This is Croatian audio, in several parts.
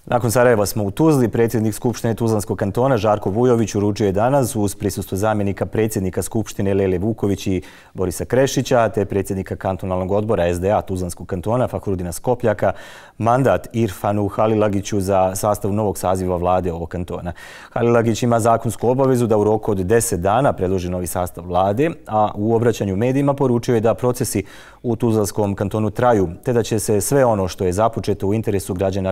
Nakon Sarajeva smo u Tuzli. Predsjednik Skupštine Tuzlanskog kantona Žarko Vujović uručio je danas uz prisustvo zamjenika predsjednika Skupštine Lele Vuković i Borisa Krešića te predsjednika kantonalnog odbora SDA Tuzlanskog kantona Fahrudina Skopljaka mandat Irfanu Halilagiću za sastav novog saziva vlade ovog kantona. Halilagić ima zakonsku obavezu da u roku od 10 dana predloži novi sastav vlade, a u obraćanju medijima poručio je da procesi u Tuzlanskom kantonu traju, te da će se sve ono što je započeto u interesu građana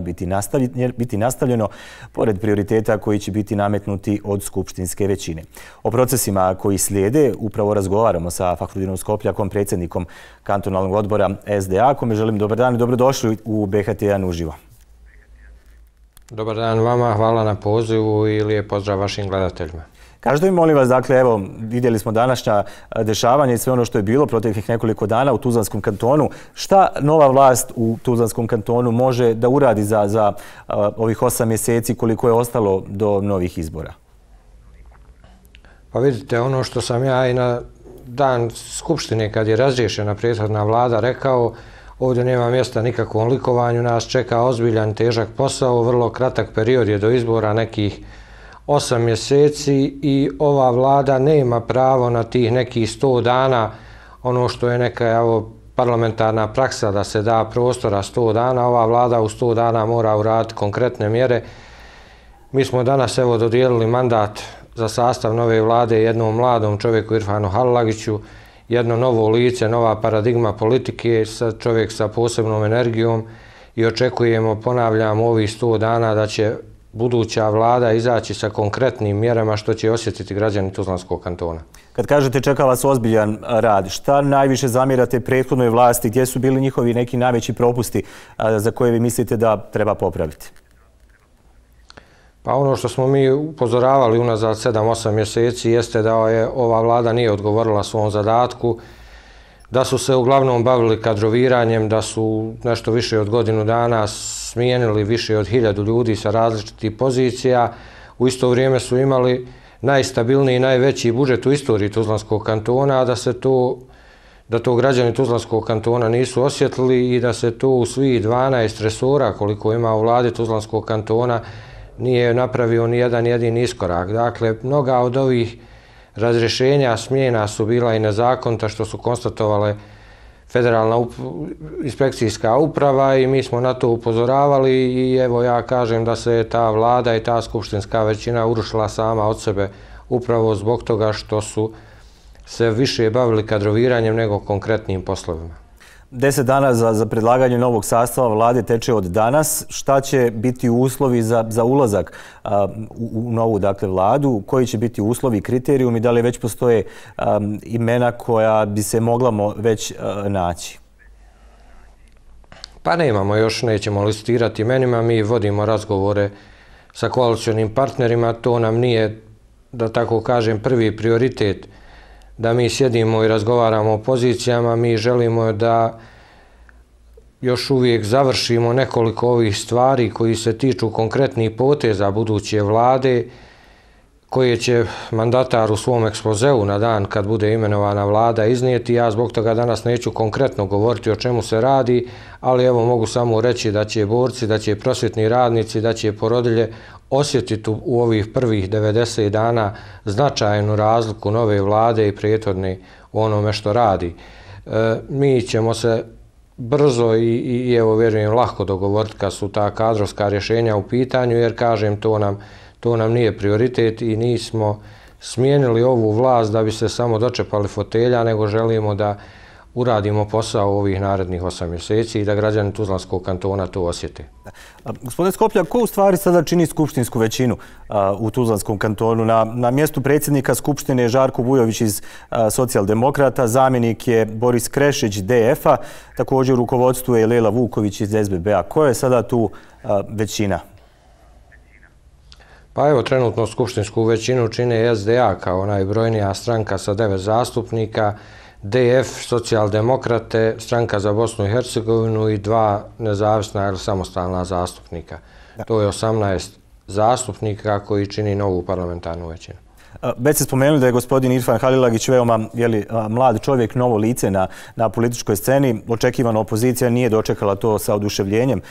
biti nastavljeno, pored prioriteta koji će biti nametnuti od skupštinske većine. O procesima koji slijede upravo razgovaramo sa Fahrudinom Skopljakom, predsjednikom kantonalnog odbora SDA, kome želim dobar dan i dobrodošli u BHT1 uživo. Dobar dan vama, hvala na pozivu i lijep pozdrav vašim gledateljima. Kažete mi, molim vas, dakle, evo, vidjeli smo današnja dešavanja i sve ono što je bilo proteklih nekoliko dana u Tuzlanskom kantonu. Šta nova vlast u Tuzlanskom kantonu može da uradi za ovih 8 mjeseci koliko je ostalo do novih izbora? Pa vidite, ono što sam ja i na dan Skupštine kad je razriješena prethodna vlada rekao, ovdje nema mjesta nikakvom likovanju, nas čeka ozbiljan, težak posao, vrlo kratak period je do izbora, nekih 8 mjeseci i ova vlada nema pravo na tih nekih 100 dana, ono što je neka parlamentarna praksa da se da prostora 100 dana, ova vlada u 100 dana mora uraditi konkretne mjere. Mi smo danas dodijelili mandat za sastav nove vlade jednom mladom čovjeku Irfanu Halilagiću, jedno novo lice, nova paradigma politike, čovjek sa posebnom energijom i očekujemo, ponavljam, ovih 100 dana da će buduća vlada izaći sa konkretnim mjerama što će osjetiti građani Tuzlanskog kantona. Kad kažete čeka vas ozbiljan rad, šta najviše zamjerate prethodnoj vlasti, gdje su bili njihovi neki najveći propusti za koje vi mislite da treba popraviti? Pa ono što smo mi upozoravali unazad 7-8 mjeseci jeste da ova vlada nije odgovorila svom zadatku, da su se uglavnom bavili kadroviranjem, da su nešto više od godinu dana smijenili više od 1000 ljudi sa različitih pozicija. U isto vrijeme su imali najstabilniji i najveći budžet u istoriji Tuzlanskog kantona, a da to građani Tuzlanskog kantona nisu osjetili i da se to u svih 12 resora koliko ima u vladi Tuzlanskog kantona nije napravio ni jedan jedini iskorak. Dakle, mnoga od ovih razrješenja, smjena su bila i nezakonita što su konstatovale Federalna inspekcijska uprava i mi smo na to upozoravali i evo ja kažem da se ta vlada i ta skupštinska većina urušila sama od sebe upravo zbog toga što su se više bavili kadroviranjem nego konkretnim poslovima. 10 dana za predlaganje novog sastava vlade teče od danas. Šta će biti uslovi za ulazak u novu vladu? Koji će biti uslovi i kriterijumi? Da li već postoje imena koja bi se mogla već naći? Pa nemamo još, nećemo listirati imenima. Mi vodimo razgovore sa koalicionim partnerima. To nam nije, da tako kažem, prvi prioritet da mi sjedimo i razgovaramo o pozicijama. Mi želimo da još uvijek završimo nekoliko ovih stvari koji se tiču konkretnih poteza buduće vlade koje će mandatar u svom ekspozeu na dan kad bude imenovana vlada iznijeti. Ja zbog toga danas neću konkretno govoriti o čemu se radi, ali evo mogu samo reći da će borci, da će prosvjetni radnici, da će porodilje osjetiti u ovih prvih 90 dana značajnu razliku nove vlade i prethodne u onome što radi. Mi ćemo se brzo i evo vjerujem lako dogovoriti kad su ta kadrovska rješenja u pitanju, jer kažem to nam nije prioritet i nismo smijenili ovu vlast da bi se samo dočepali fotelja, nego želimo da uradimo posao ovih narednih 8 mjeseci i da građani Tuzlanskog kantona to osjete. Gospodine Skopljak, ko u stvari sada čini skupštinsku većinu u Tuzlanskom kantonu? Na mjestu predsjednika Skupštine je Žarko Vujović iz Socijaldemokrata, zamjenik je Boris Krešić DF-a, također u rukovodstvu je Lela Vuković iz SBB-a. Ko je sada tu većina? Pa evo, trenutno skupštinsku većinu čine SDA kao najbrojnija stranka sa 9 zastupnika, DF, Socijaldemokrate, Stranka za Bosnu i Hercegovinu i 2 nezavisna ili samostalna zastupnika. To je 18 zastupnika koji čini novu parlamentarnu većinu. Već ste spomenuli da je gospodin Irfan Halilagić veoma mlad čovjek, novo lice na političkoj sceni. Očekivano opozicija nije dočekala to sa oduševljenjem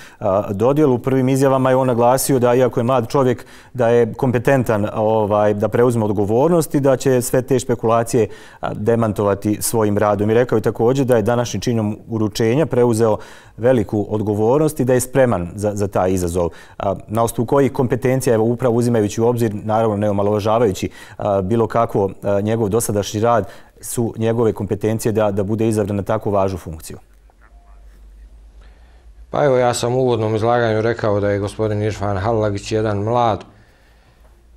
dodjelu. U prvim izjavama je on naglasio da, iako je mlad čovjek, da je kompetentan da preuzme odgovornost i da će sve te špekulacije demantovati svojim radom. I rekao je također da je današnjim činom uručenja preuzeo veliku odgovornost i da je spreman za taj izazov. Na osnovu kojih kompetencija, evo upravo uzimajući u obzir, naravno ne omalovažavajući bilo kako njegov dosadašnji rad, su njegove kompetencije da bude izabran na tako važnu funkciju? Pa evo, ja sam u uvodnom izlaganju rekao da je gospodin Irfan Halilagić jedan mlad,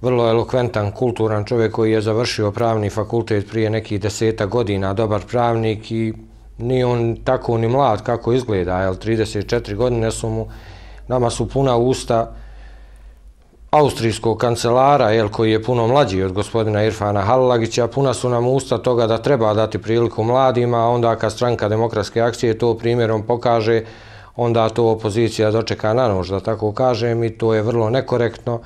vrlo elokventan, kulturan čovjek koji je završio pravni fakultet prije nekih 10 godina, dobar pravnik i nije on tako ni mlad kako izgleda, 34 godine su mu, nama su puna usta austrijskog kancelara, koji je puno mlađi od gospodina Irfana Halilagića, puna su nam usta toga da treba dati priliku mladima, a onda kad Stranka demokratske akcije to primjerom pokaže, onda to opozicija dočeka na nož, da tako kažem, i to je vrlo nekorektno.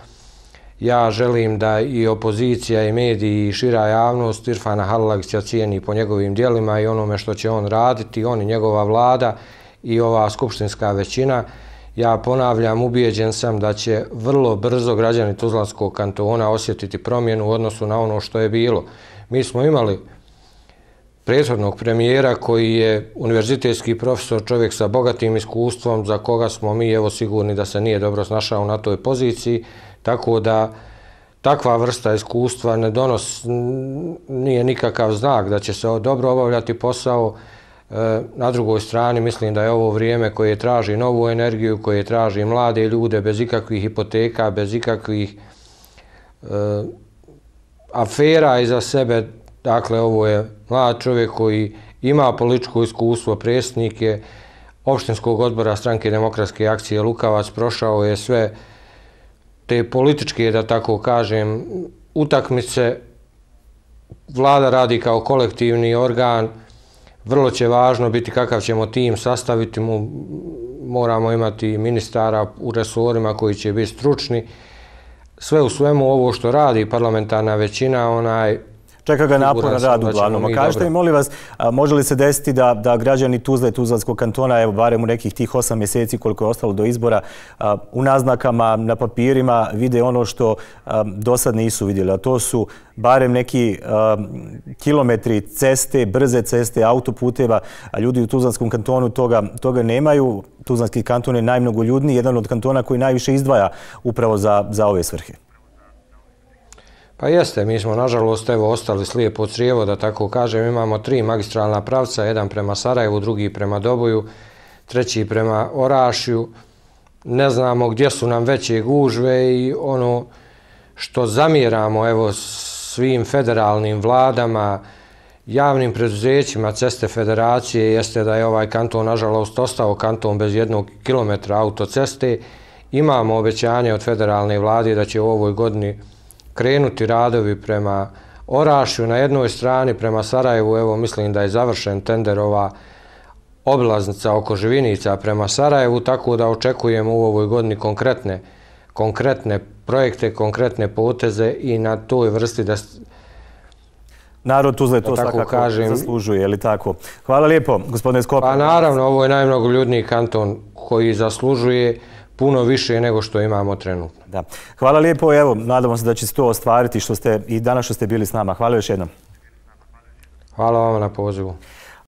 Ja želim da i opozicija i mediji i šira javnost Irfana Halilagića cijeni po njegovim djelima i onome što će on raditi, on i njegova vlada i ova skupštinska većina. Ja ponavljam, ubijeđen sam da će vrlo brzo građani Tuzlanskog kantona osjetiti promjenu u odnosu na ono što je bilo. Mi smo imali prethodnog premijera koji je univerzitetski profesor, čovjek sa bogatim iskustvom, za koga smo mi evo sigurni da se nije dobro snašao na toj poziciji, tako da takva vrsta iskustva nije nikakav znak da će se dobro obavljati posao. Na drugoj strani mislim da je ovo vrijeme koje traži novu energiju, koje traži mlade ljude bez ikakvih hipoteka, bez ikakvih afera iza sebe. Dakle, ovo je mlad čovjek koji ima političko iskustvo, predsjednik je opštinskog odbora Stranke demokratske akcije Lukavac, prošao je sve te političke, da tako kažem, utakmice. Vlada radi kao kolektivni organ, vrlo će važno biti kakav ćemo tim sastaviti, moramo imati ministara u resorima koji će biti stručni. Sve u svemu ovo što radi parlamentarna većina, čeka ga naporan rad uglavnom. A kažete mi, molim vas, može li se desiti da građani Tuzle i Tuzlanskog kantona, evo barem u nekih tih 8 mjeseci koliko je ostalo do izbora, u naznakama, na papirima vide ono što do sad nisu vidjeli, a to su barem neki kilometri ceste, brze ceste, autoputeva, a ljudi u Tuzlanskom kantonu toga nemaju. Tuzlanski kanton je najmnogoljudniji, jedan od kantona koji najviše izdvaja upravo za ove svrhe. Pa jeste, mi smo nažalost ostali slijepo crijevo, da tako kažem. Imamo 3 magistralna pravca, jedan prema Sarajevu, drugi prema Doboju, treći prema Orašju. Ne znamo gdje su nam veće gužve i ono što zamjeramo svim federalnim vladama, javnim preduzećima Ceste Federacije jeste da je ovaj kanton nažalost ostao kanton bez 1 kilometra autoceste. Imamo obećanje od federalne vlade da će u ovoj godini krenuti radovi prema Orašju na jednoj strani, prema Sarajevu. Evo, mislim da je završen tender ova obilaznica oko Živinica prema Sarajevu, tako da očekujemo u ovoj godini konkretne projekte, konkretne poteze i na toj vrsti da narod Tuzle to svakako zaslužuje, je li tako? Hvala lijepo, gospodine Skopa. Pa naravno, ovo je najmnogoljudniji kanton koji zaslužuje puno više nego što imamo trenutno. Da. Hvala lijepo, evo, nadamo se da će se to ostvariti i danas što ste bili s nama. Hvala još jednom. Hvala vam na pozivu.